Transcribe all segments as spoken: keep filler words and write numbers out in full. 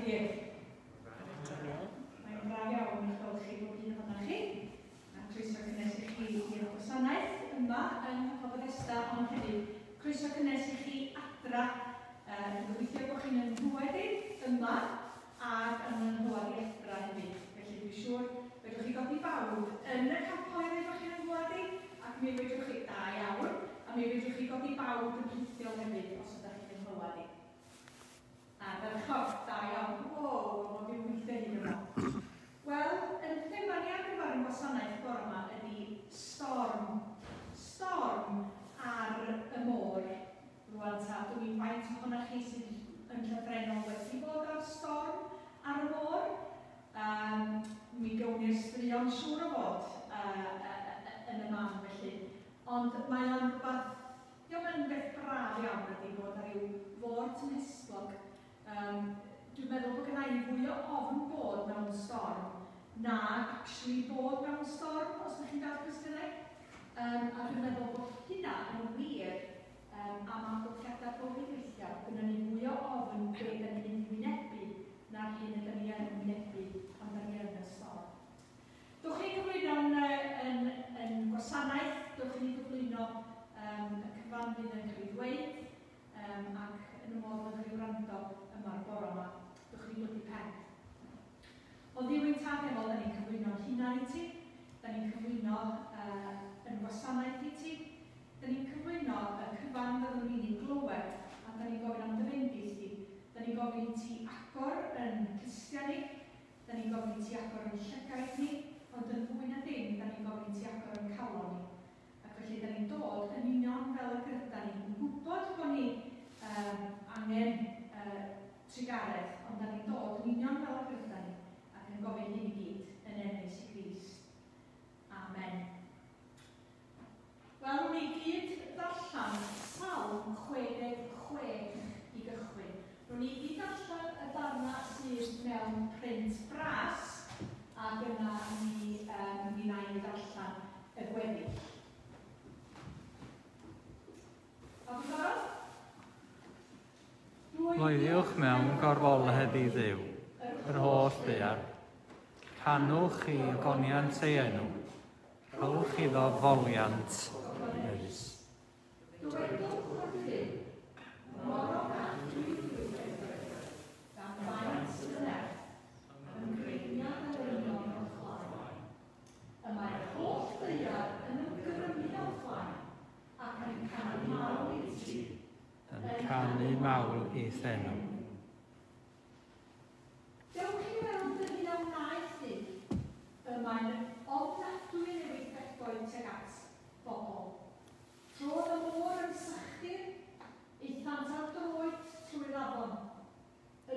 gyd? Mae'n braf iawn i'ch gweld chi bob un ohonoch chi. A croeso cynnes i chi i'r gwasanaeth yma yng Nghapel Bethesda, ond hefyd croeso cynnes i chi adra. Uh, dwi'n gobeithio bod chi'n yn nghlywed i yma ac yn yn nghlywed i adra hefyd. Felly dwi'n siŵr fedrwch chi godi bawd yn y capel i ddweud bod chi'n yn nghlywed i, ac mi fedrwch chi, da iawn, a mi fedrwch chi godi bawd yn rhithiol hefyd os ydych chi'n nghlywed i. Ardderchog, da iawn. Wow, mae'n byw weithio hyn yma. Wel, yn thema ni ar gyfer y gwasanaeth bore yma ydy storm. Storm ar y môr. Rwan ta, dwi'n i'n faint ohonoch chi sydd yn llythrennol wedi bod ar storm ar y môr. Um, mi gawn ni'r straeon siŵr o fod uh, uh, yn y man felly. Ond mae o'n rhywbeth, dio'm yn beth braf iawn ydy bod ar ryw fôr tymhestlog. Um, dwi'n meddwl bod gynna i fwy o ofn bod mewn storm na actually bod mewn storm, os ydych chi'n dal cwestiynau. Um, a dwi'n meddwl bod hynna yn wir um, am amgylchiadau bywyd weithiau. Gynna ni fwy o ofn be da ni'n mynd i wynebu na'r hyn ydyn ni yn wynebu pan da ni yn y storm. Dwch chi gyflwyno yn, yn, yn gwasanaeth, dwch chi gyflwyno um, y cyfan fydd yn cael ei ddweud um, ac yn y modd yn cael ei wrando yma'r bore yma. Dwch chi blygu pen. O Dduw ein tad efo, da ni'n cyflwyno'n hunan i ti, da ni'n cyflwyno uh, yn gwasanaeth i ti, da ni'n cyflwyno y cyfan fyddwn ni'n ei glywed, a da ni'n gofyn am dy fendith di. Da ni'n gofyn i ti agor yn clustiau ni, da ni'n gofyn i ti agor yn llygaid ni, ond yn fwy na dim, da ni'n gofyn i ti agor yn calon ni. Ac felly, da ni'n dod yn union fel y gyda ni, yn gwybod bod ni um, angen uh, trugaredd, ond da ni'n dod yn union fel y gyda ni, ac yn gofyn hyn i gyd yn enw Iesu Grist. Amen. Wel, wnawn ni gyd ddarllen Salm chwe deg chwech i gychwyn. Wnawn ni gyd darllen y darna sydd mewn print bras, ac yna mi, um, mi wna i ddarllen y gweddill. Pawb yn barod? Bloeddiwch mewn gorfoledd i Dduw, yr holl ddaear. Canwch i ogoniant ei enw, rhowch iddo foliant melys. Dywedwch wrthym, mor ofnadwy yw edrych, gan faint y nerth, yn greiniad yr union o'ch blaen. Y mae'r holl ddaear yn ymgrymu o'ch blaen, ac yn canu mawl i ti. Yn canu mawl i'th enw. Dewch i weld yr hyn a wnaeth Duw, y mae'n ofnadwy yn ei weithredoedd tuag at bobl. Trodd y môr yn sychdir, aethant ar droed trwy'r afon.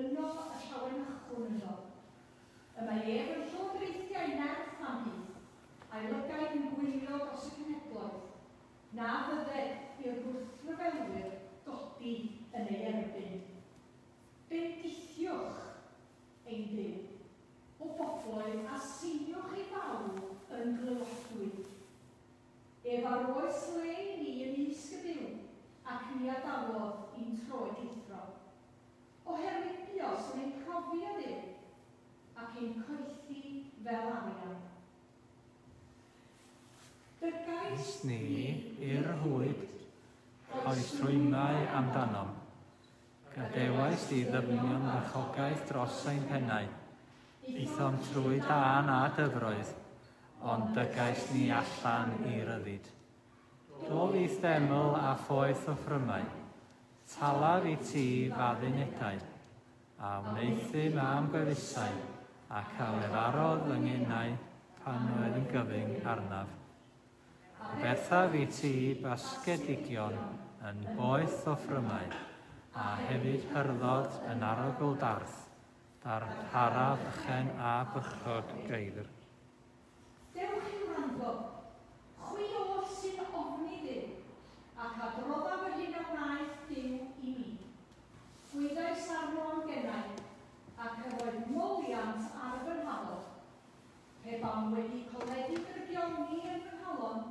Yno y llawenychwn ynddo. Y mae ef yn llywodraethu nerth am hyd, a'i lygaid yn gwylio dros y cenhedloedd. Na fydded i'r gwrthryfelwyr godi yn ei erbyn. Bendithiwch ein Duw, o bobloedd, a seiniwch ei fawl yn glywadwy. Ef a roes le i ni ymysg y byw, ac ni adawodd i'n troed lithro. Oherwydd buost yn ein profi o Dduw, ac ein coethi fel arian. Dygais ni i'r rhwyd, rhoes rhwymau amdanom. Gadewais i ddyfnion farchogaeth dros ein pennau. Aethom trwy dân a dyfroedd, ond dygais ni allan i ryddid. Dof i'th deml a phoeth offrymau, talaf i ti f'addunedau, a wneuthum am gwefusau, ac a lefarodd fy ngenau pan oedd yn gyfyng arnaf. Aberthaf i ti basgedigion yn boeth offrymau, a hefyd hyrddod yn arogl darth, darparaf ychen a bychod geifr. Dewch i wrando, chwi oll sy'n ofni Dduw, ac adroddaf yr hyn a wnaeth Duw i mi. Gwyddais arno am gennau, ac yr oedd moliant ar fy nghalon. Pe bawn wedi coledu drygioni yn fy nghalon,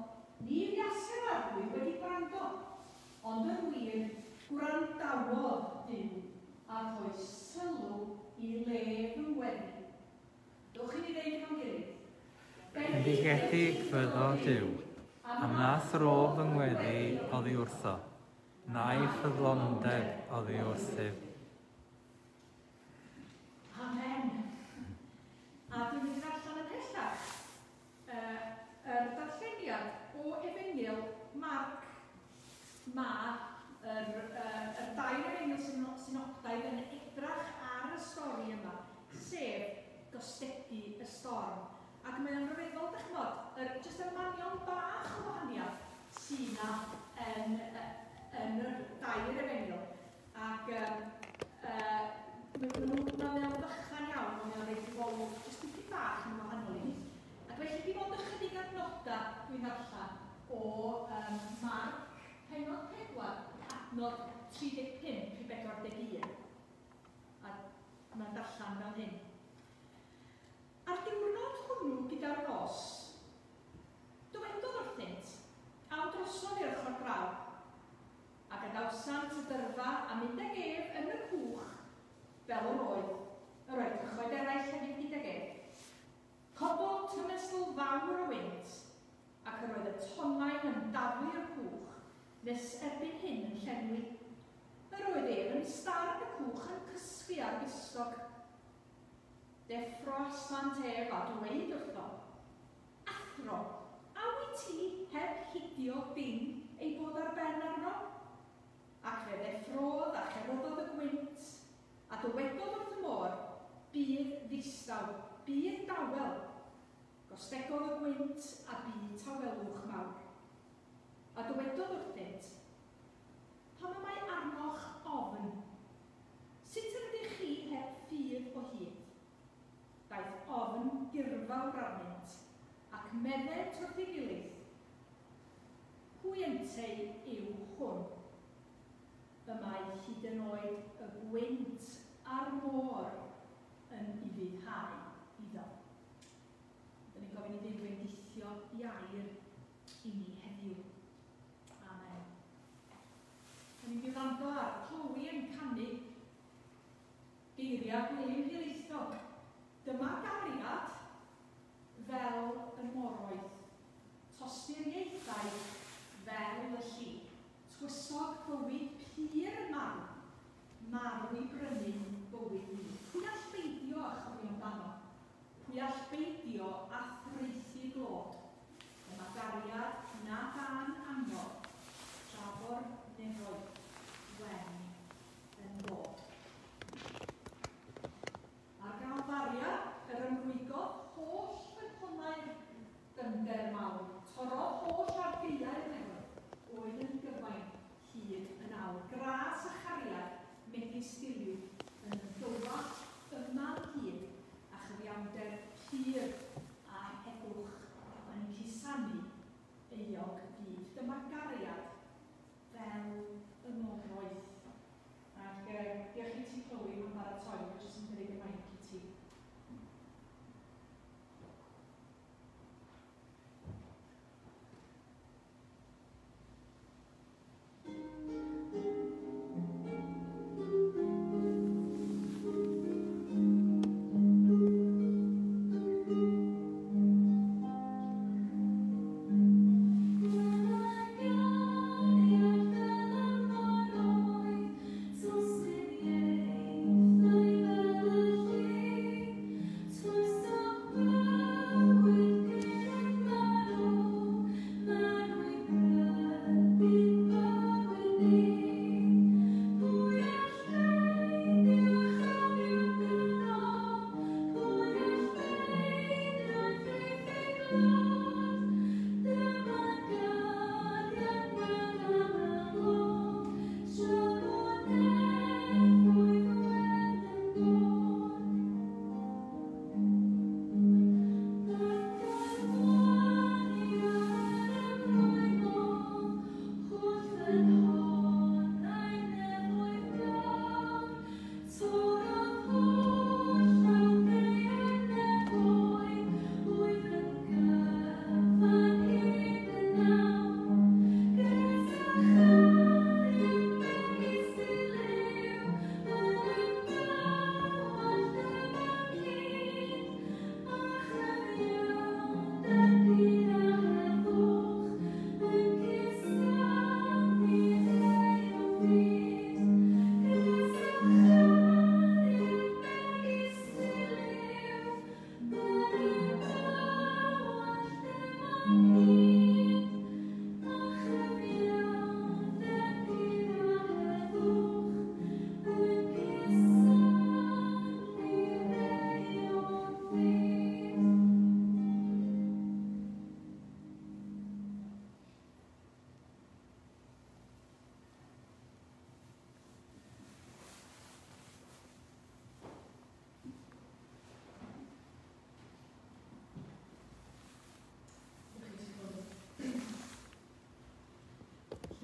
ni fuasai'r Arglwydd wedi gwrando, ond yn wir, gwrandawodd Duw a rhoi sylw i le fy ngweddi. Dowch i ni ddeud efo'n gilydd. Bendigedig fyddo Duw, am na thro fy ngweddi oddi wrtho, na'i ffyddlondeb oddi wrthyf. Amen. A dwi'n mynd i ddarllen y pellach. Uh, yr darlleniad o Efengyl Marc. Mae yr, uh, yr dair efengyl synoptaidd yn edrach ar y stori yma, sef gostegu y storm. Ac mae o'n rhyfeddol, dych ch'mod, yr, jyst y manion bach o wahaniaeth sydd 'na yn, yn yr dair efengyl. Ac um, uh, mae nhw'n fychan iawn, ond mae'n reit golwg jyst dipyn bach yn wahanol i ni. Ac felly dim ond ychydig adnodau dwi'n ddarllen o um, Marc, pennod pedwar, adnod tri deg pump i bedwar deg un. A mae'n darllen fel hyn. A'r diwrnod hwnnw gyda'r nos, dywedodd wrthynt, awn drosodd i'r ochr draw, a gadawsant y dyrfa a mynd ag ef yn y cwch fel yr oedd, yr oedd cychoedd eraill hefyd gydag ef. Cododd tymestl fawr o wynt, ac yr oedd y tonnau yn daflu'r cwch, nes erbyn hyn yn llenwi. Yr oedd ef yn starn y cwch yn cysgu ar bysgog. Deffroasant ef a dweud wrtho, Athro, a wyt ti heb hidio dim ei bod ar ben arno? Ac fe ddeffrodd a cheryddodd y gwynt, a dywedodd wrth y môr, bydd ddistaw, bydd dawel. Gostegodd y gwynt a bu tawelwch mawr. A dywedodd wrthynt, pam y mae arnoch ofn? Sut yr ydych chi heb ffydd o hyd? Daeth ofn dirfawr arnynt, ac meddent wrth ei gilydd, pwy ynteu yw hwn? Y mae hyd yn oed y gwynt a'r môr yn ufuddhau iddo. Dyna ni'n gofyn i Dduw bendithio i air i ni heddiw. Amen. Dyna ni'n mynd i wrando ar Chloe yn canu geiriau Gwilym Hiraethog. Dyma gariad fel y moroedd, tosturiaethau fel y lli, twysog bywyd pur yn marw, marw i brynu bywyd ni. Pwy all beidio â chofio amdano? Pwy all beidio â thraethu glod? Dyma gariad na dan angor, tra bo'r nefoedd wen yn bod. Ar Galfaria, yr ymrwygodd holl ffynhonnau'r dyfnder mawr, torrodd holl argaeau'r nefoedd, oedd yn gyfain hyd yn awr. Gras a chariad megis diliw yn ymdywallt yma'n hyd, a chyfiawnder pur a heddwch yn cusanu euog fyd. Dyma gariad fel y moroedd. Ac uh, diolch i ti, Chloe, am baratoi, dwi'n jyst yn cynnig y maic i ti. Gariad fel y moroedd, tosturiaethau fel y lli.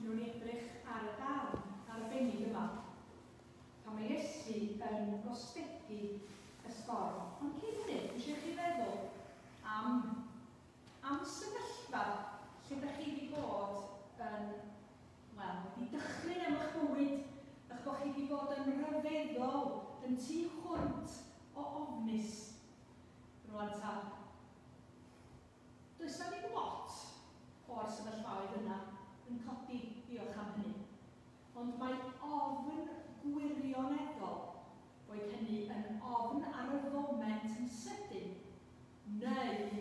Mi wnawn ni edrych ar y darn arbennig yma, pan mae Iesu yn gostegu y storm. Ond cyn hynny, dwi eisiau chi feddwl am, am sefyllfa lle ydych chi wedi bod yn, wel, wedi dychryn am eich bywyd, eich bod chi wedi bod yn rhyfeddol, yn tu hwnt o ofnus. Rwan ta, does na ddim lot o'r sefyllfaoedd yna yn codi, diolch am hynny. Ond mae ofn gwirioneddol, boed hynny yn ofn ar y foment yn sydyn, neu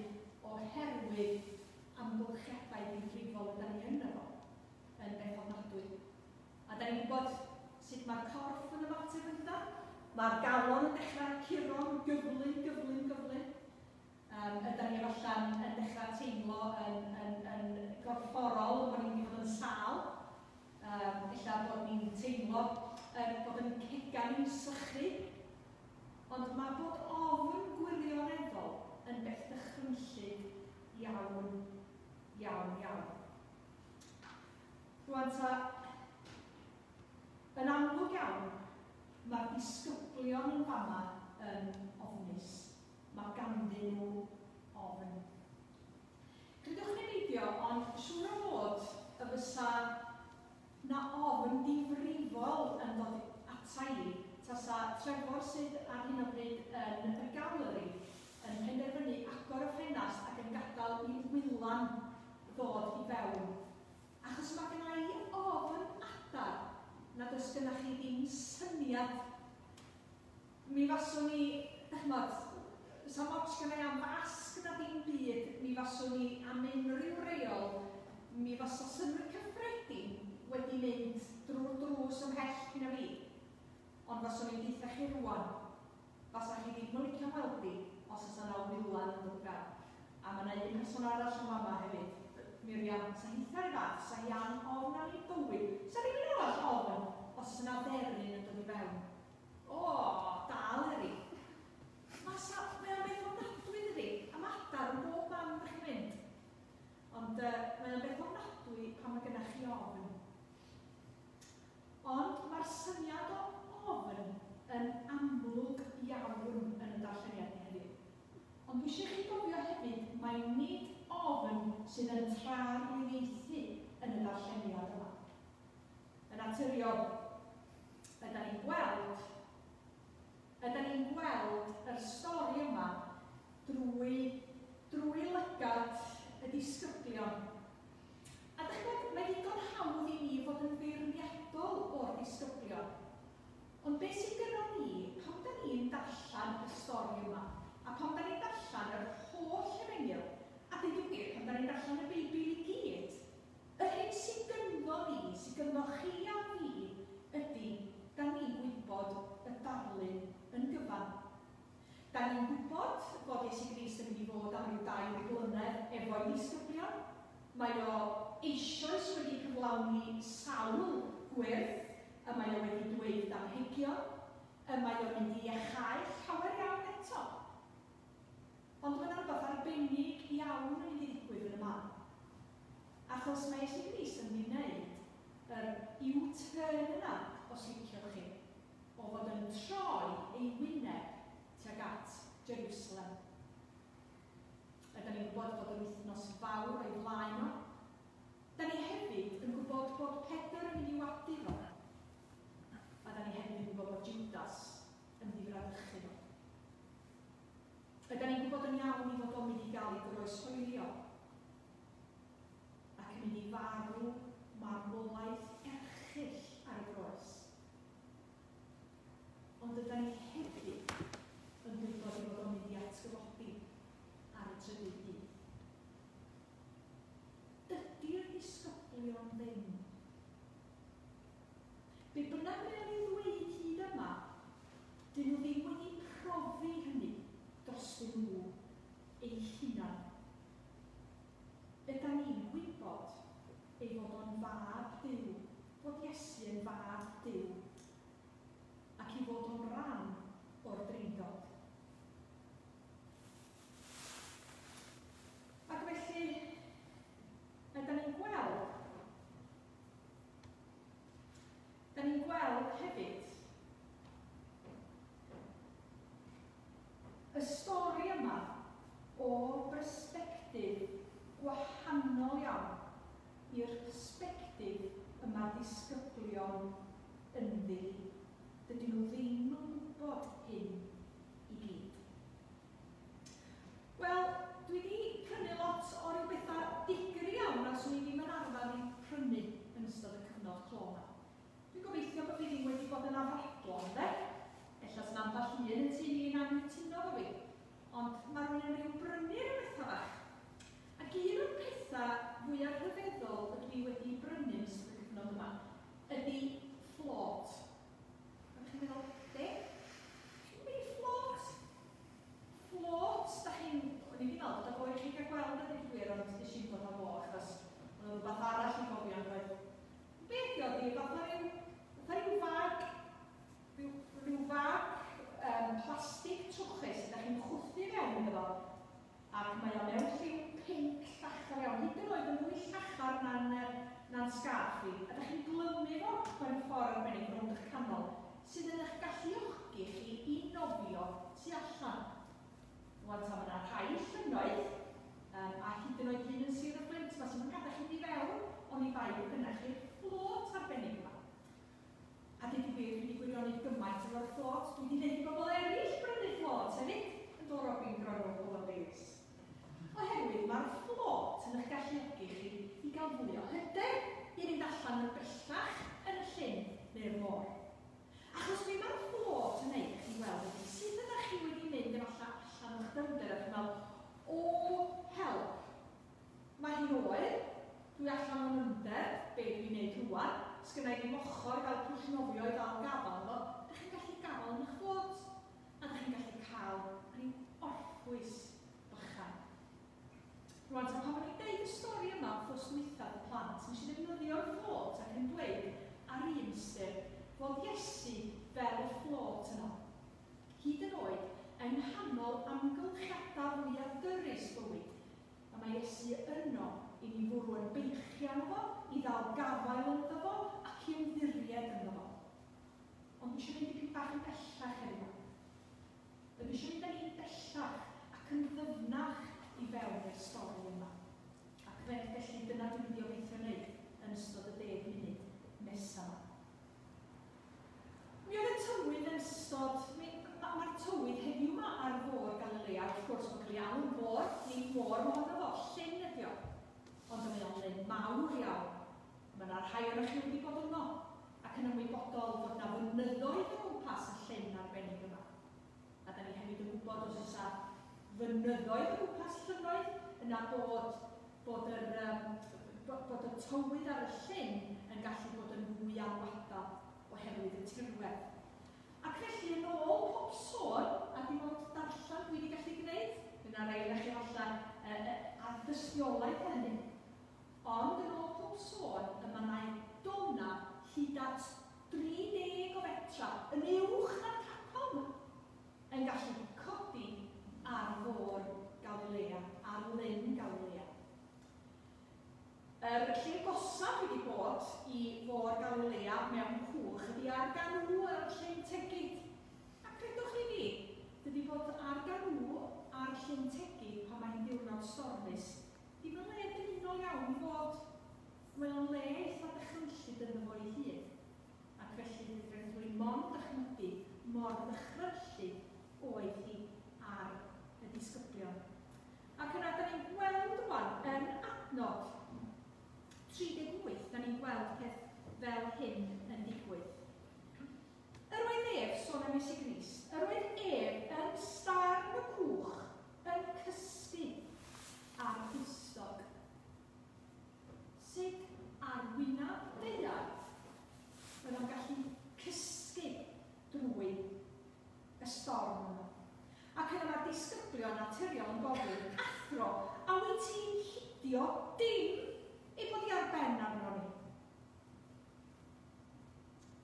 oherwydd amgylchiadau difrifol ydan ni ynddo fo, yn beth ofnadwy. A da ni'n gwybod sut mae'r corff yn ymateb yn dydan? Mae'r galon yn dechrau curo'n gyflym, gyflym, gyflym. Um, ydan ni efalla'n yn dechrau teimlo yn, yn, yn gorfforol, bod ni'n mynd i fod yn sâl. Um, ella bod ni'n teimlo um, bod yn cegan ni'n sychu. Ond mae bod ofn gwirioneddol yn beth dychrynllyd iawn, iawn, iawn. Rwan ta, yn amlwg iawn, mae'r disgyblion yn fama yn ofnus. Mae ganddyn nhw ofn. Credwch neu beidio, ond siŵr o fod y fysa na ofn difrifol yn dod ata i tasa Trefor sydd ar hyn o bryd yn y galeri yn penderfynu agor y ffenast ac yn gadael i wylan ddod i fewn. Achos mae genna i ofn adar nad oes genna chi ddim syniad. Mi faswn i, dych ch'mod, sa'm ots genna i am fasg na ddim byd, mi faswn i am unrhyw reol, mi fasa synnwyr cyffredin wedi mynd drwy'r drws ymhell cyn fi. Ond faswn i'n deutha chi rwan, fasa chi ddim yn licio weld fi os oes yna wylan yn dod fewn. A mae yna un person arall yn fama hefyd, Miriam, sa hitha'r fath, sa hi am ofn am ei bywyd. Sa rhywun arall ofn os oes yna dderyn yn dod i fewn. O, dal eri. Mae sa, mae o'n beth ofnadwy dydi, a mae adar yn bob man ydych chi'n mynd. Ond uh, mae o'n beth ofnadwy pan mae gennych chi ofn. Ond mae'r syniad o ofn yn amlwg iawn yn y darlleniad ni heddiw. Ond dwi eisiau chi gofio hefyd, mae nid ofn sydd yn trarglwyddiaethu yn y darlleniad yma. Yn naturiol, ydan ni'n gweld, ydan ni'n gweld yr stori yma drwy, drwy lygad y disgyblion. A dych chi'n gwybod, mae ddigon hawdd i ni fod yn feirniadol o'r disgyblion. Ond beth sydd gynnon ni, pan da ni'n darllen y stori yma, a pan da ni'n darllen yr holl efengyl, a dweud y gwir, pan da ni'n darllen y Beibl i gyd, yr hyn sydd gynddo ni, sydd gynddo chi a fi, ydy, da ni'n gwybod y darlun yn gyfan. Da ni'n gwybod bod Iesu Grist yn mynd i fod am ryw dair blynedd efo'i ddisgyblion. Mae o eisoes wedi cyflawni sawl gwyrth, y mae o wedi dweud damhegion, y mae o'n mynd i iachau llawer iawn eto. Ond mae yna rhywbeth arbennig iawn yn mynd i ddigwydd yn y man. Achos mae Iesu Grist yn mynd i wneud yr U-turn yna, os liciwch chi, o fod yn troi ei wyneb tuag at Jerusalem. Ydan ni'n gwybod bod yr wythnos fawr o'i flaen o. Da ni hefyd yn gwybod bod Pedr yn mynd i wadu fo. A da ni hefyd yn gwybod bod Judas yn mynd i fradychu fo. Ydan ni'n gwybod yn iawn i fod o'n mynd i gael ei groeshoelio ac yn mynd i farw marwolaeth erchyll ar y groes. Ond ydan ni hefyd yn gwybod ei fod o'n mynd i atgyfodi ar y trydydd dydd. Dydy'r disgyblion ddim. Be bynnag mae o'n ei ddweud hyd yma, dyn nhw ddim wedi profi hynny drostyn nhw eu hunan. Ydan ni'n gwybod ei fod o'n fab Duw, bod Iesu yn fab Duw, ac i fod o'n ran wahanol iawn i'r persbectif y mae disgyblion ynddi. Dydyn nhw ddim yn gwybod hyn i gyd. Wel, dwi wedi prynu lot o ryw bethau digri iawn a swn i ddim yn arfer i prynu yn ystod y cyfnod clo yma. Dwi'n gobeithio bod fi ddim wedi bod yn afradlon, de? Ella sy'n ambell un yn tŷ ni'n anghytuno efo fi. Ond mae rhywun yn rhyw brynu ryw bethau bach. Ac un o'r pethau fwyaf rhyfeddol ydw i wedi brynu yn ystod y cyfnod yma ydy float. A chi'n meddwl, be? Be float? Float, da chi'n... O'n i wedi meddwl bod o fo i chi gael gweld y gwir, ond nes i'n dod â fo, achos oedd rhywbeth arall i gofio yn dweud. Be ydi o? Di fatha rhyw, fatha rhyw fag, rhyw, rhyw fag um, plastig trwchus ydych chi'n chwthu fewn iddo fo, ac mae o mewn lliw pinc llachar iawn, hyd yn oed yn fwy llachar na'n, na'n sgarff i. A ydych chi'n glymu fo mewn ffordd arbennig rownd eich canol, sydd yn eich galluogi chi i nofio tu allan. Wan ta, mae yna rhai llynnoedd, um, a hyd yn oed un yn Sir y Fflint, ma sy'n yn gadael chi i fewn, ond i bai bod gynnach chi'r fflôt arbennig yma. A dweud y gwir, dwi wedi gwirioni gymaint efo'r fflôt, dwi wedi gwneud i bobl eraill brynu fflôt hefyd, yn dod Robin Gronw Hywel Davies. Oherwydd mae'r fflôt yn eich galluogi chi i gael fwy o hyder i fynd allan yn bellach yn y llyn neu'r môr. Achos be mae'r fflôt yn neud chi weld ydy sut ydych chi wedi mynd efallai allan o'ch dyfnder a chi'n meddwl, o help, mae hi'n oer, dwi allan o'n nyfnder, be dwi'n neud rŵan, sgynna i ddim ochr fel pwll nofio i ddal gafal efo, ydych chi'n gallu gafal yn eich fflôt, a ydych chi'n gallu cael rhyw orffwys bychan. Rwan, ta pan o'n i'n deud y stori yma wrth dwytha y plant, nes i ddefnyddio'r fflôt ac yn dweud ar un ystyr fod Iesu fel y fflôt yno. Hyd yn oed, yng nghanol amgylchiadau fwyaf dyrys bywyd, a mae Iesu yno i ni fwrw yn beichiau fo, i ddal gafael ynddo fo, ac i ymddiried ynddo fo. Ond dwi eisiau mynd dipyn bach yn bellach heddiw. Dwi eisiau mynd â ni'n bellach ac yn ddyfnach i fewn i'r stori yma. Ac felly dyna dwi'n mynd i obeithio wneud yn ystod y deg munud nesaf yma. Mi oedd y tywydd yn ystod, mae'r tywydd heddiw yma ar fôr Galilea, wrth gwrs mae'n cael ei alw'n fôr, nid môr mohono fo, llyn ydi o. Ond mae o'n lyn mawr iawn. Mae yna rhai ohonoch chi wedi bod yno, ac yn ymwybodol fod yna fynyddoedd o gwmpas y llyn arbennig yma. A da ni hefyd yn gwybod os oes fynyddoedd o gwmpas llynnoedd, yna bod, bod, yr, um, bod y tywydd ar y llyn yn gallu bod yn fwy alwadol oherwydd y tirwedd. Ac felly yn ôl pob sôn, a dim ond darllen dwi wedi gallu gwneud, yna rai ohonoch chi falle uh, ar dystiolaeth hynny. Ond yn ôl pob sôn, y mae yna dona hyd at dri deg o fetra yn uwch na'r capel yma, yn gallu codi ar fôr Galilea, ar lyn Galilea. Yr lle gosaf wedi bod i fôr Galilea mewn cwch ydy ar ganw ar Llyn Tegid. A credwch chi fi, dydy bod ar ganw ar Llyn Tegid pan mae'n ddiwrnod stormus, ddim yn le dymunol iawn i fod. Mae o'n le eitha dychrynllyd ynddo fo ei hun. Ac felly rydw i mond dychmygu mor ddychrynllyd oedd hi ar y disgyblion. Ac yna, da ni'n gweld rwan yn adnod tri deg wyth, da ni'n gweld peth fel hyn yn digwydd. Yr oedd ef, sôn am Iesu Grist, yr oedd ef yn starn y cwch yn cysgu ar bustog. Sut ar wyneb daear oedd o'n gallu cysgu drwy y storm yma. Ac yna mae'r disgyblion naturiol yn gofyn, athro, a wyt ti'n hidio dim ei bod i ar ben arno ni?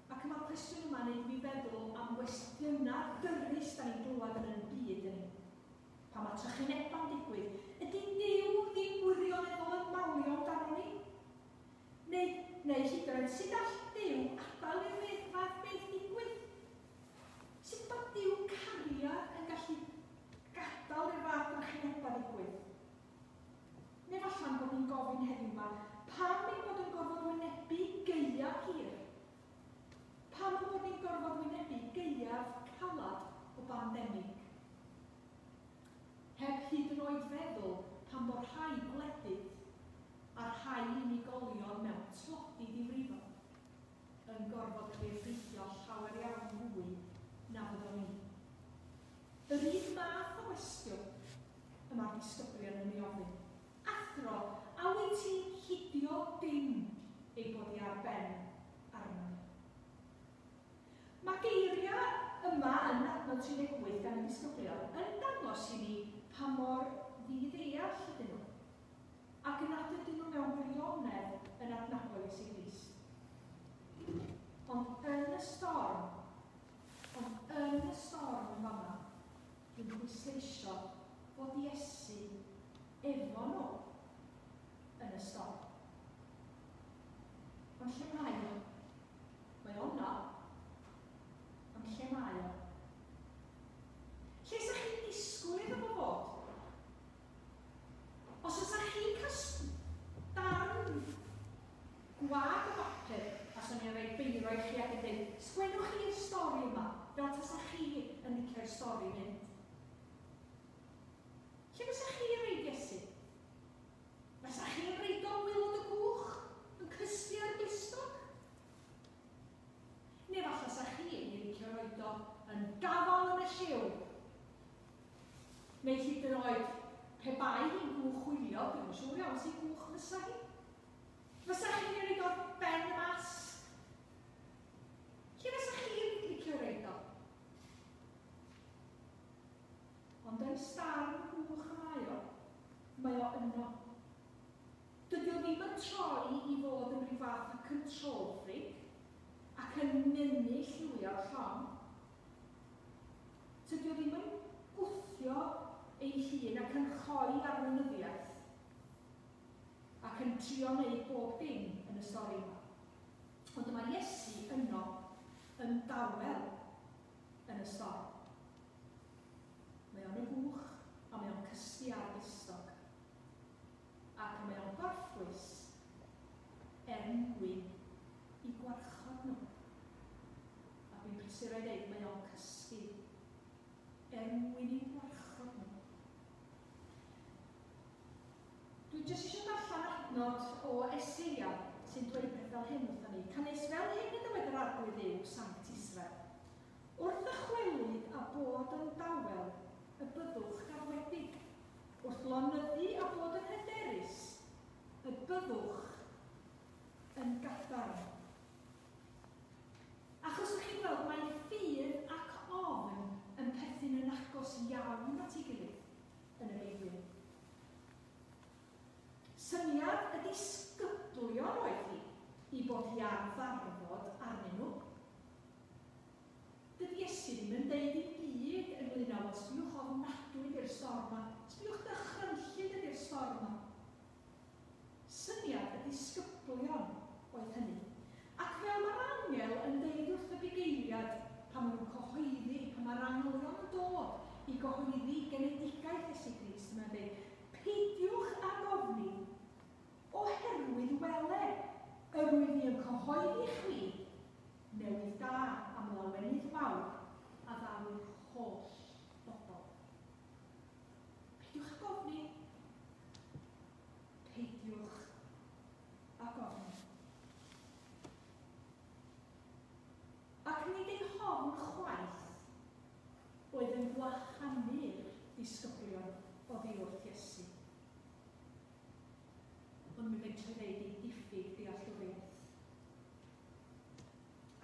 Ac mae'r cwestiwn yma'n neud fi feddwl am gwestiynau dyrys da ni'n glywed yn y byd yn ni. Pan mae trychinebau'n digwydd, ydy Duw ddim wirioneddol yn malio amdano ni? Neu, neu hyd yn oed, sut all Duw adael i'r fath beth digwydd? Sut bod Duw cariad yn gallu gadael i'r fath drychinebau digwydd? Neu falle'n bod ni'n gofyn bandemig. Heb hyd yn oed feddwl pan bod rhai gwledydd a rhai unigolion mewn tlodi difrifol yn gorfod cael ei effeithio llawer iawn fwy na fyddwn ni. Yr un math o gwestiwn y mae'r disgyblion yn ei ofyn. Athro, a wyt ti'n hidio dim ei bod hi ar ben arno ni? Mae geiriau yma yn adnod tri deg wyth gan y disgyblion yn dangos i ni pa mor ddiddeall ydyn nhw, ac yn nad ydyn nhw mewn gwirionedd yn adnabod Iesu Grist. Ond yn y storm, ond yn y storm yn fama, dwi'n pwysleisio fod Iesu efo nhw yn y storm. Ond lle mae o? Mae o yno. Ond lle mae o? Lle sa chi'n disgwyl iddo fo fod? Os oes chi'n cael darn gwag o bapur, a swn i'n rhoi beiro i chi ac yn dweud, sgwennwch chi'r stori yma, fel tasa chi yn licio'r stori mynd. Lle fysa chi'n rhoid Iesu? Fysa chi'n rhoid o waelod y gwch, yn cysgu ar y glustog? Neu falle sa chi'n ei licio roed o yn gafal yn y lliw? Neu hyd yn oed, pe bai hi'n gwch hwylio, dwi'n siŵr iawn sy'n gwch fysa hi. Fysa chi'n ei roed o ben y mast? Lle fysa chi'n licio roed o? Ond yn starn gwch y mae o, mae o yno. Dydy o ddim yn troi i fod yn rhyw fath o control freak ac yn mynnu lliwio'r llong. Tydy o ddim yn gwthio ei hun ac yn choi arweinyddiaeth ac yn trio wneud bob dim yn y stori yma. Ond mae Iesu yno yn dawel yn y stori. Mae o'n y gwch a mae o'n cysgu ar glustog. Ac mae o'n gorffwys er mwyn i gwarchod nhw. A dwi'n prysur o'i ddeud, mae o'n cysgu er mwyn i gwarchod nhw. Dwi jyst eisiau darllen adnod o Eseia sy'n dweud peth fel hyn wrthon ni. Canys fel hyn y dywed yr Arglwydd Dduw, Sanct Israel. Wrth ddychwelyd a bod yn dawel, y byddwch gadwedig. Wrth lonyddu a bod yn hyderus, y byddwch yn gadarn. Achos ydych chi'n gweld, mae ffydd ac ofn yn perthyn yn agos iawn at ei gilydd yn y Beibl. Syniad y disgyblion oedd hi i bod hi ar ddarfod arnyn nhw. Dydy Iesu ddim yn deud dim byd ynglyn â, wel, sbiwch ofnadwy ydy'r storm yma, sbiwch dychrynllyd ydy'r storm yma. Syniad y disgyblion oedd hynny. Ac fel mae'r angel yn deud wrth y bugeiliad pan maen nhw'n cyhoeddi, pan mae'r angylion yn dod i gyhoeddi genedigaeth Iesu Grist, mae'n deud, peidiwch ag ofni, oherwydd wele, yr wyf i yn cyhoeddi chwi newydd da am lawenydd mawr a ddaw i'r holl bobl. Peidiwch ag ofni. Peidiwch ag ofni. Ac nid ei hofn chwaith oedd yn gwahanu'r disgyblion oddi wrth Iesu. Ond mi fedra i ddeud ei diffyg dealltwriaeth.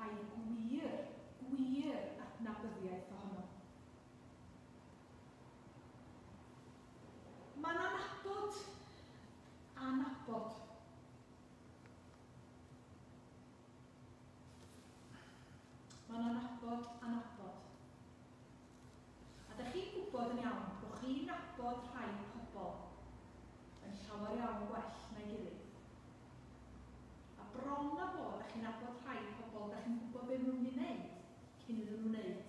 A'i gwir, gwir adnabyddiaeth ohono. Mae'n anabod, anabod. Mae'n anabod, anabod. A dych chi'n gwybod yn iawn bod chi'n nabod rhai pobl yn llawer iawn gwell na'i gilydd. A bron a bod, dych chi'n nabod rhai pobl, dych chi'n gwybod beth maen nhw'n mynd i wneud cyn iddyn nhw wneud.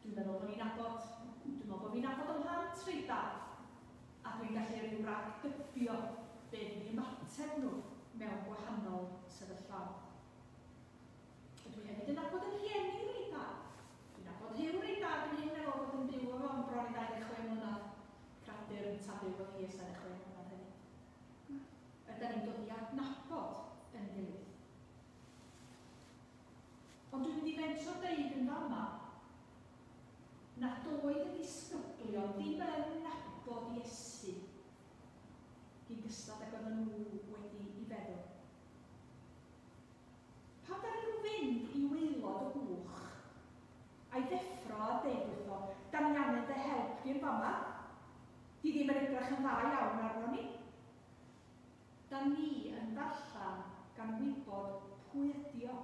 Dwi'n meddwl bod ni'n nabod, dwi'n meddwl bod fi'n nabod ym mhlant reit dda, a dwi'n gallu rhyw ragdybio be fydd eu ymateb nhw mewn gwahanol sefyllfaoedd. Dwi hefyd yn nabod yn rhieni reit dda. Dwi'n nabod Huw reit dda. nad oedd y disgyblion ddim yn nabod Iesu gyn gystal ag oedden nhw wedi i feddwl. Pan ddaru nhw fynd i waelod y gwch a'i ddeffro a deud wrtho, da ni angen dy help di'n fama, di ddim yn edrych yn dda iawn arno ni. Da ni yn darllen gan wybod pwy ydi o,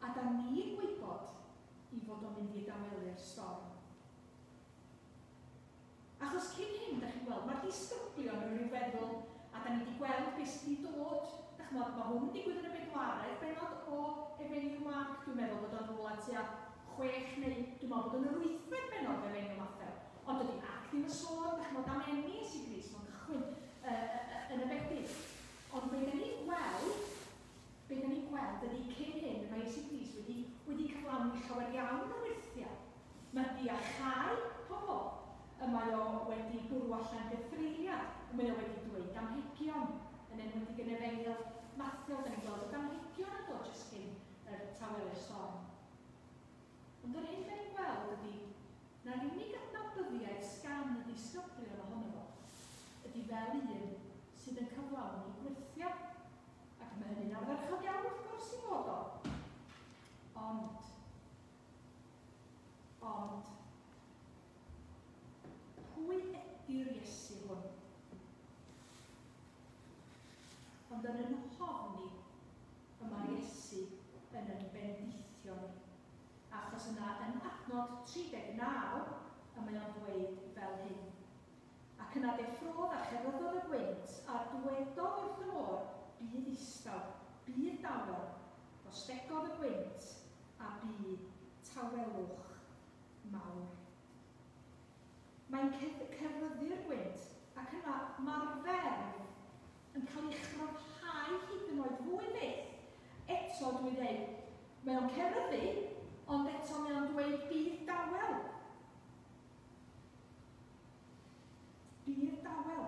a da ni'n gwybod i fod o'n mynd i dawelu'r storm. Achos cyn hyn, da chi'n gweld, mae'r disgyblion yn rhyw feddwl, a da ni wedi gweld beth sydd wedi dod. Da chi'n gweld, mae hwn yn digwydd yn y bedwaredd bennod o Efengyl Marc. Dwi'n meddwl bod o'n rhywle tua chwech neu dwi'n meddwl bod o'n yr wythfed bennod o Efengyl Mathew. Ond dydy Ac ddim yn sôn, da chi'n gweld, am eni Iesu Grist, mae'n cychwyn uh, yn y bedydd. Ond be da ni'n gweld, be da ni'n gweld ydy cyn hyn, mae Iesu Grist wedi, wedi cyflawni llawer iawn o wyrthiau. Mae di achau pobl. Y mae o wedi bwrw allan gythreuliad, y mae o wedi dweud damhegion, yn enwedig yn Efengyl Mathew, da ni'n gweld y damhegion yn dod jyst cyn yr tawelu'r storm. Ond yr hyn da ni'n gweld ydy na'r unig adnabyddiaeth sgan y disgyblion ohono fo ydy fel un sydd yn cyflawni gwyrthiau. Ac mae hynny'n ardderchog iawn wrth gwrs i fod o. Ond, ond, pwy ydy'r Iesu hwn? Ond yn yn hofni y mae'r Iesu yn yn bendithio ni. Achos yna yn adnod tri deg naw y mae o'n dweud fel hyn. Ac yna deffrodd a cheryddodd y gwynt a dwedodd wrth y môr, bydd ddistaw, bydd dawel, gostegodd y gwynt a bu tawelwch mawr. Mae'n cerfyddu'r gwynt ac yna mae'r ferf yn cael ei chryfhau hyd yn oed fwy fyth. Eto dwi dweud, mae o'n cerfyddu, ond eto mae o'n dweud bydd dawel. Bydd dawel.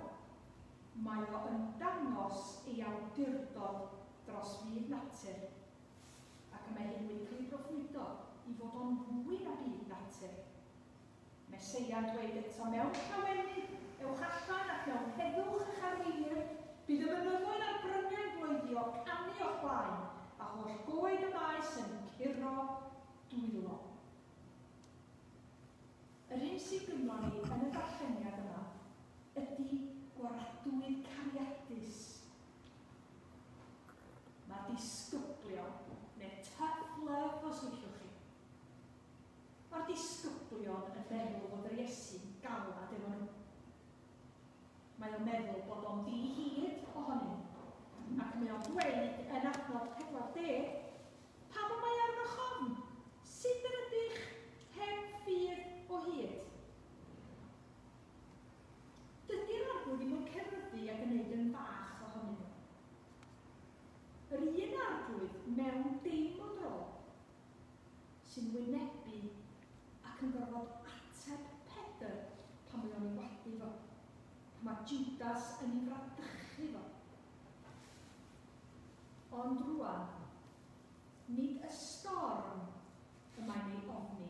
Mae o yn dangos ei awdurdod dros fyd natur. Ac mae hyn wedi cael ei broffwydo i fod o'n fwy na byd natur. Meseia'n dweud eto, mewn llawenydd, ewch allan ac mewn heddwch eich arweinir, bydd y mynyddoedd a'r bryniau'n bloeddio canu o'ch blaen, a holl goed y maes yn curo dwylo. Yr hyn sydd gynnon ni yn y darlleniad yma ydy gwaradwydd cariadus. Mae'r disgyblion, neu tough love os liciwch chi, mae'r disgyblion yn meddwl fod yr Iesu'n galad efo nhw. Mae o'n meddwl bod o'n ddi-hid ohonyn nhw. Ac mae o'n dweud yn adnod pedwar deg, pam y mae arnoch ofn? Sut yr ydych heb ffydd o hyd? Dydy'r Arglwydd ddim yn cerfyddu ac yn gwneud yn fach ohonyn nhw. Yr un Arglwydd mewn dim o dro sy'n wynebu ac yn gorfod ateb Pedr pan mae o'n ei wadu fo, pan mae Judas yn ei fradychu fo. Ond rwan, nid y storm y mae'n ei ofni.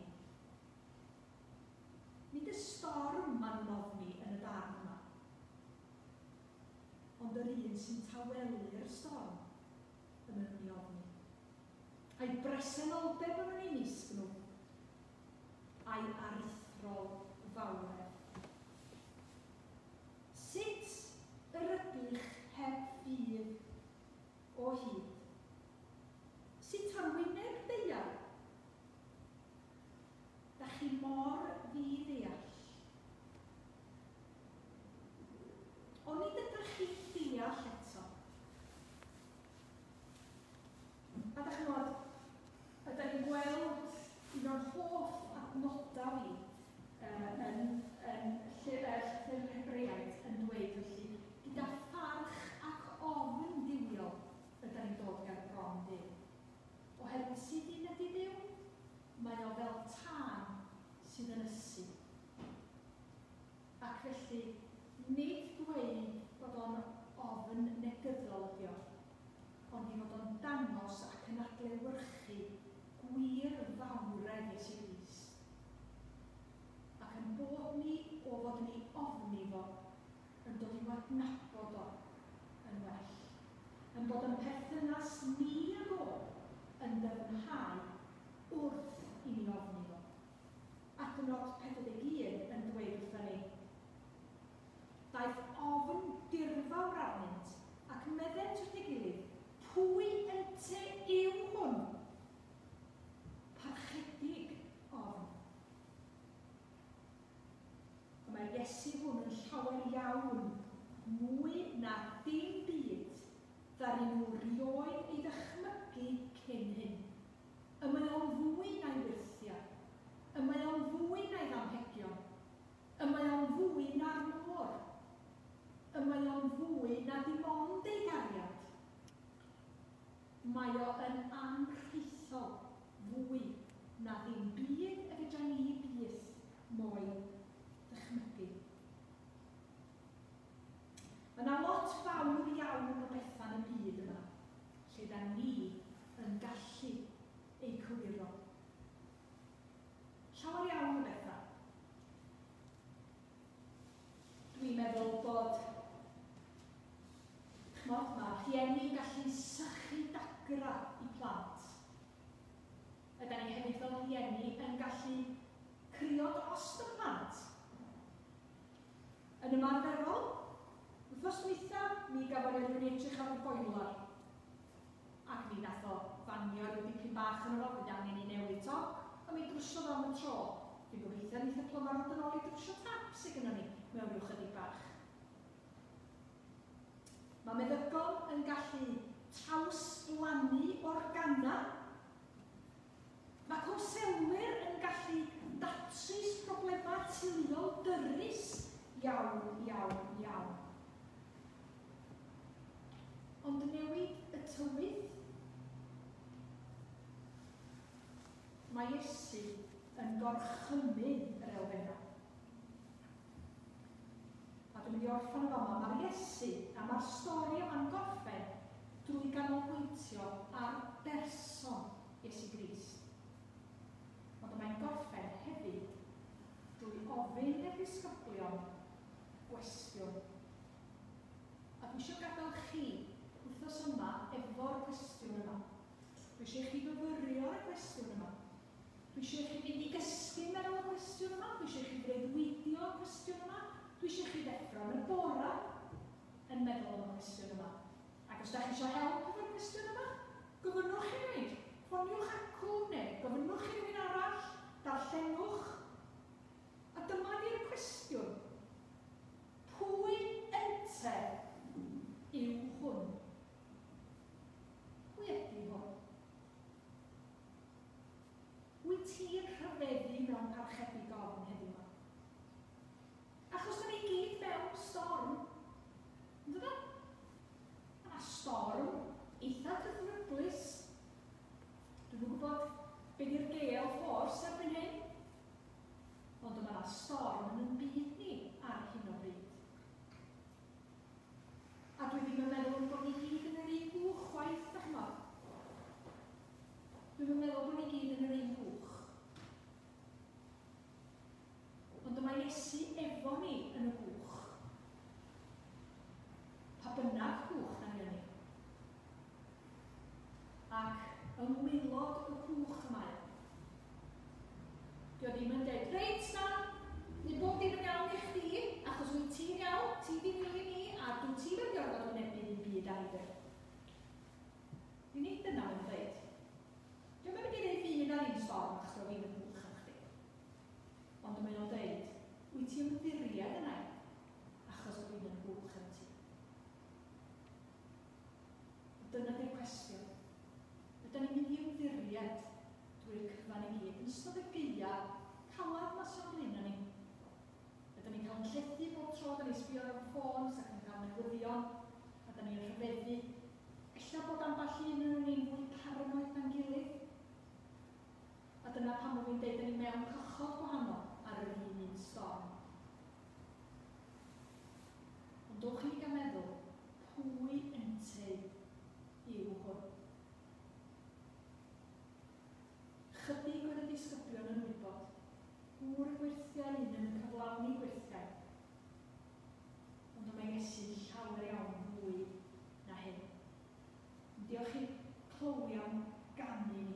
Nid y storm maen nhw'n ofni yn y darn yma, ond yr un sy'n tawelu'r storm y maen nhw'n ei ofni. A'i bresenoldeb yn ei mysg nhw, a'i aruthrol fawredd. Sut yr ydych heb ffydd o hyd? Sut ar wyneb ddaear? Da chi mor ddi-ddeall. Ond nid ydych chi'n deall eto. A da chi'n gwybod, ydy ni'n gweld un o'r hoff adnodau fi uh, yn, yn llyfr Hebreaid yn dweud felly, gyda pharch ac ofn duwiol ydy ni'n dod ger bron Duw. Oherwydd sydd un ydy Duw, mae o fel tân sydd yn ysu. Ac felly, nid dweud bod o'n ofn negyddol ydi o, ond i fod o'n dangos ac yn adlewyrchu gwir fawredd Iesu Grist. i'w adnabod o yn well. Yn bod yn perthynas ni ag o yn dyfnhau wrth i ni ofni fo. Adnod pedwar deg un yn dweud wrthon ni, daeth ofn dirfawr arnynt ac meddent wrth ei gilydd, pwy ynte yw hwn? Parchedig ofn. Y mae'r Iesu hwn yn llawer iawn mwy na dim byd ddaru nhw rioed ei ddychmygu cyn hyn. Y mae o'n fwy na'i wyrthiau. Y mae o'n fwy na'i ddamhegion. Y mae o'n fwy na'r môr. Y mae o'n fwy na dim ond ei gariad. Mae o yn anrhaethol fwy na ddim byd y fedra ni byth mo'i dychmygu. Mae yna lot fawr iawn o bethau yn y byd yma, lle da ni yn gallu eu cywiro. Llawer iawn o bethau. Dwi'n meddwl bod, ch'mod, mae rhieni'n gallu sychu dagra i plant. Ydan ni hefyd fel rhieni yn gallu crio dros y plant. Yn ymarferol, wythnos dwytha, mi gafodd e rhywun edrych ar y boiler. Ac mi nath o fanio rhyw dipyn bach yn o, bydd angen i newid toc, a mi drwsiodd am y tro. Dwi'n gobeithio neith y plymar ddod yn ôl i drwsio tap sydd gynnon ni mewn rhyw chydig bach. Mae meddygon yn gallu trawsblannu organa. Mae cwnselwyr yn gallu datrys problemau teuluol dyrys iawn, iawn, iawn. Ond newid y tywydd, mae Iesu yn gorchymyn yr elfennau. A dwi'n mynd i orffen yn fama, mae'r Iesu a mae'r stori yma'n gorffen drwy ganolbwyntio ar berson Iesu Grist. Ond mae'n gorffen hefyd drwy ofyn i'r disgyblion gwestiwn. A dwi eisiau gadael chi wythnos yma efo'r cwestiwn yma. Dwi eisiau chi fyfyrio ar y cwestiwn yma. Dwi eisiau chi fynd i gysgu meddwl y cwestiwn yma. Dwi eisiau chi freuddwydio y cwestiwn yma. Dwi eisiau chi ddeffro yn y bora yn meddwl am y cwestiwn yma. Ac os da chi eisiau help efo'r cwestiwn yma, gofynnwch i mi. Ffoniwch acw neu gofynnwch i rywun arall, darllenwch. A dyma di'r cwestiwn. Pwy ynte yw hwn? Pwy ydy hwn? Wyt ti'n rhyfeddu mewn parchedig ofn heddiw yma? Achos da ni gyd mewn storm. Yn dydan? Mae yna storm eitha cythryblus. Dwi'm yn gwybod be di'r gale force erbyn hyn. Ond mae yna storm yn ein byd ni ar hyn o bryd. A dwi ddim yn meddwl bod ni gyd yn yr un gwch chwaith, da ch'mod. Dwi'm yn meddwl bod ni gyd yn yr un gwch. Ond mae Iesu efo ni yn y gwch. Pa bynnag gwch na ni yn. Ac yng ngwaelod y cwch yma. Dio ddim yn dweud, reit na, ni bob dim yn iawn i chdi, achos wyt ti'n iawn, ti di nilyn ni, a dwi ti'n mynd i orfod wynebu ddim byd ar ei. Di nid dyna mae'n dweud. Dio'm yn mynd i ddeud fi na ddim storm achos dwi ddim yn gwch am chdi. Ond mae'n o'n dweud, wyt ti'n ymddiried yna, achos dwi yn gwch am ti. Dyna di'r cwestiwn. Ydy ni'n mynd i ymddiried drwy'r cyfan i gyd yn ystod y gaea calad ma sy'n blaen ni. Ydyn ni'n cael yn llethu bob tro, da ni'n sbio ar y ffôn, ac yn cael newyddion, a da ni'n rhyfeddu. Ella bod ambell un yn ni'n fwy paranoid na'n gilydd. A dyna pam bod fi'n deud, da ni mewn cychod gwahanol ar yr un un storm. Ond dowch i ni gael meddwl, pwy ynteu yw hwn? Chydig oedd y disgyblion yn wybod, gŵr y gwyrthiau un yn cyflawni gwyrthiau. Ond mae mae Iesu'n llawer iawn fwy na hyn. Diolch i Chloe am ganu ni.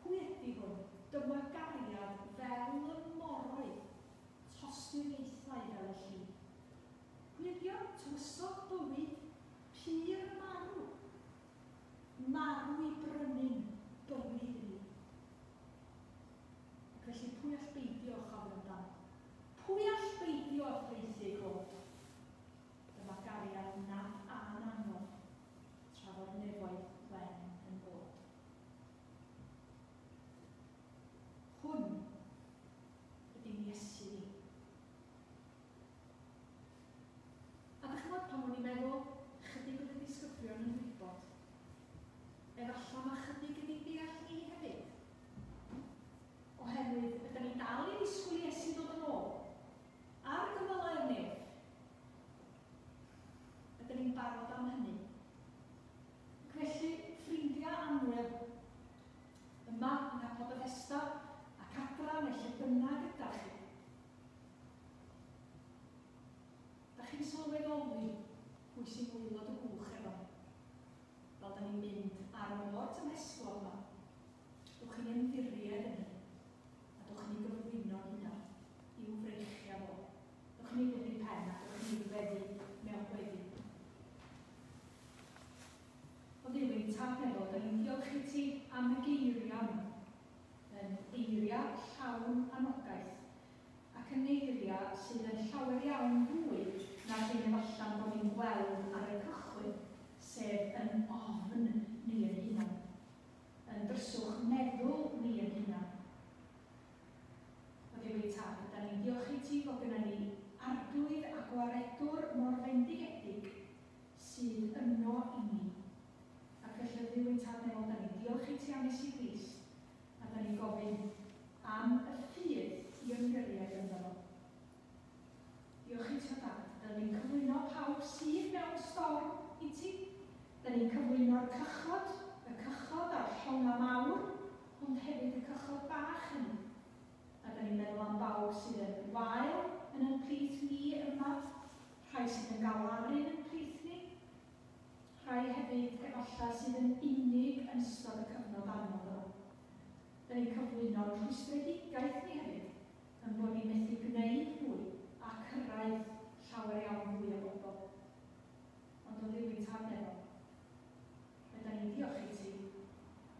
Pwy ydy hwn? Dyma gariad fel y moroedd, tosturiaethau fel y lli. Pwy ydy o? Tywysog bywyd, pur marw. Marw i brynu'n bywyd i ni. Ac felly pwy all beidio â chofio amdano? Pwy all beidio â thraethu ei god? Dyma gariad nad a'n anodd, tra fod nefoedd wen yn bod. Hwn ydy'n Iesu ni. A dych chi'n gwybod pan o'n i'n meddwl, chydig oedd y disgyblion yn gwybod. Efallai mae chydig yn ei deall ni hefyd. Oherwydd, ydyn ni dal i ddisgwyl i Iesu ddod yn ôl. Ar gymylau'r nef. Ydyn ni'n barod am hynny. Ac felly, ffrindiau annwyl, yma yng Nghapel Bethesda ac adra neu lle bynnag ydach chi. Dach chi'n sylweddoli pwy sy'n waelod y gwch efo ni. Fel da ni'n mynd ar y môr tymhestlog yma. Dwch chi'n ymddiried yn hyn, a dwch chi'n ei gyflwyno'n hunan i'w freichiau fo. Dwch chi'n ei blygu pen a dwch chi'n ei weddi mewn gweddi. O Dduw ein Tad nefol, da ni'n diolch i ti am y geiriau yma. Yn eiriau llawn anogaeth, ac yn eiriau sydd yn llawer iawn fwy na'r hyn efallai bod ni'n gweld ar y cychwyn, sef yn ofn ni yn hunan, yn dryswch meddwl ni yn hunan. O Dduw ein Tad, da ni'n diolch i ti fod gyda ni Arglwydd a Gwaredwr mor fendigedig sydd yno i ni. Ac felly, Dduw ein Tad nefol, da ni'n diolch i ti am Iesu Grist, a da ni'n gofyn am y ffydd i ymddiried ynddo fo. Diolch i ti o Dad. Da ni'n cyflwyno pawb sydd mewn storm i ti. Da ni'n cyflwyno'r cychod, y cychod a'r llongau mawr, ond hefyd y cychod bach hynny. A da ni'n meddwl am bawb sydd yn wael yn ein plith ni yma, rhai sydd yn galaru yn ein plith ni, rhai hefyd efallai sydd yn unig yn ystod y cyfnod anodd yma. Da ni'n cyflwyno'r rhwystredigaeth ni hefyd, yn bod ni'n methu gwneud mwy a cyrraedd llawer iawn fwy o bobl. Ond o Dduw ein Tad nefol, ydan ni'n diolch i ti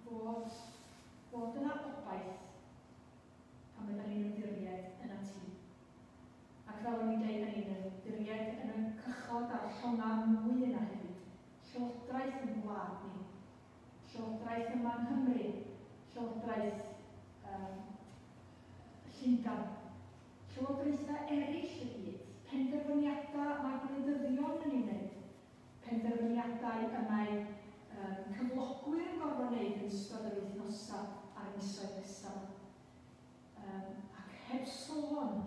fod, fod yna obaith pan ydyn ni'n ymddiried yna ti. Ac fel o'n i'n dweud, da ni'n ymddiried yn y cychod a'r llongau mwy yna hefyd. Llywodraeth yn gwlad ni, llywodraeth yma yng Nghymru, llywodraeth um, Llundain, llywodraethau eraill y byd, penderfyniadau mae gwleidyddion yn ei wneud, penderfyniadau y mae um, cyflogwyr yn gorfod wneud yn ystod yr wythnosau a'r misoedd nesaf. Um, ac heb sôn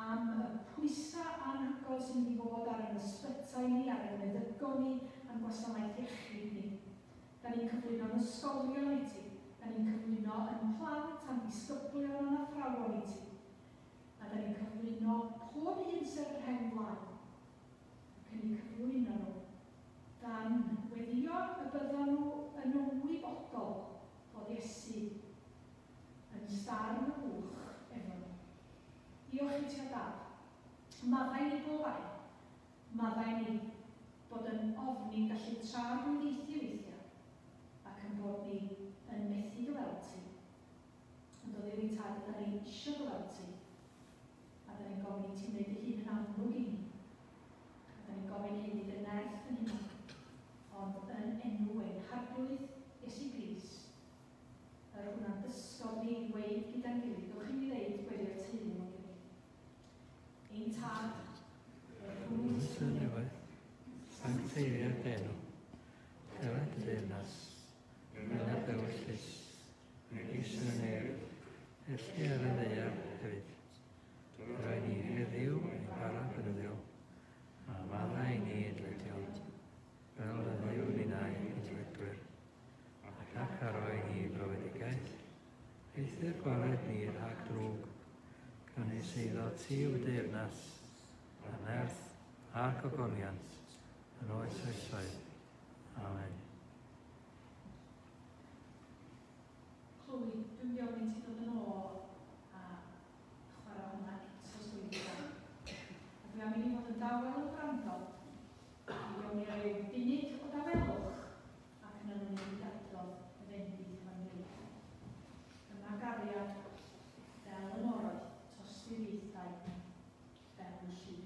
am y pwysau anhygoel sy'n mynd i fod ar ein ysbytai ni, ar ein meddygon ni, a'n gwasanaeth iechyd ni. Da ni'n cyflwyno'n ysgolion i ti, da ni'n cyflwyno yn plant a'n disgyblion a'n athrawon i ti. A da ni'n cyflwyno pob un sydd yr rheng flaen. Ac yn eu cyflwyno nhw, dan weddio y byddan nhw yn ymwybodol fod Iesu yn starn y gwch efo nhw. Diolch i ti o Dad. Maddau ni bob ai. Maddau ni bod yn ofni'n gallu trarglwyddiaethu weithiau ac yn bod ni yn methu dy weld ti. Ond o Dduw ein Tad, ydan ni eisiau dy weld ti. A da ni'n gofyn i ti wneud dy hun yn amlwg i ni. A da ni'n gofyn hyn i dy nerth yn hunan. Ond yn enw ein Harglwydd Iesu Grist, yr hwnna'n dysgodd ni i weud gyda'n gilydd. Dewch i ni ddeud gweddi'r teulu mewn gilydd. Ein Tad, yr hwnnw Sy'n nefoedd, sancteiddier dy enw, dyled dy deyrnas, wna dy ewyllys, megis yn y nef, felly ar y ddaear hefyd. Rhoi ni heddiw ein bara beunyddiol, a maddau i ni ein dyledion, fel y ddyw ninnau ein dyledwyr, ac nac aroi ni brofedigaeth, eithr gwared ni rhag drwg, canys eiddo ti yw deyrnas, a nerth, a'r gogoniant, yn oes oesoedd. Amen. Chloe, dwi'n mynd i ofyn i ti ddod yn ôl a chwarae hwnna eto swydd. A dwi am i ni fod yn dawel yn gwrando. Mi gawn ni ryw funud o dawelwch ac yna ni'n mynd i adrodd y fendith efo'n gilydd. Dyma gariad fel y moroedd, tosturiaethau fel y lli.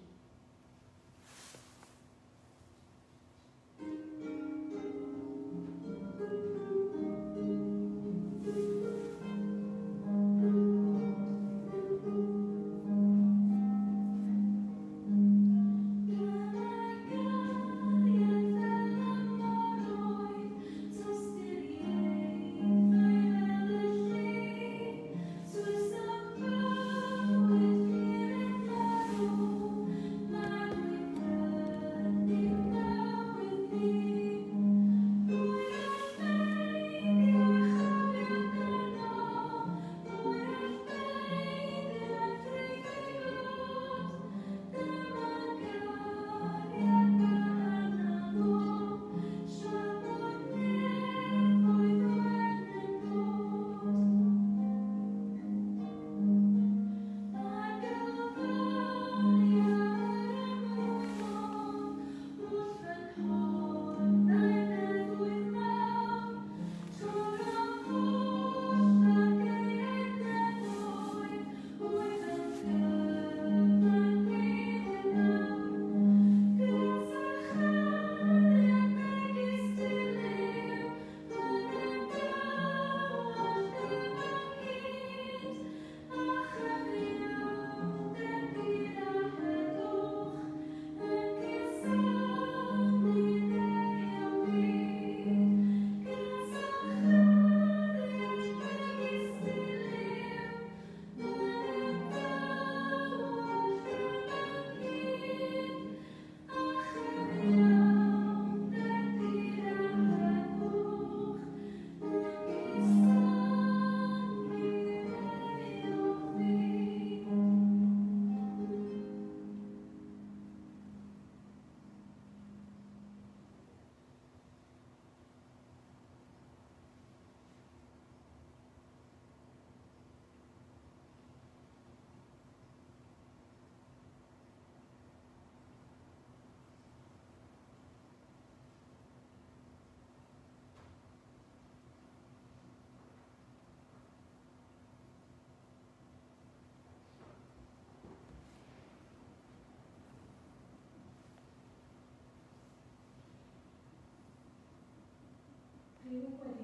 Rhyw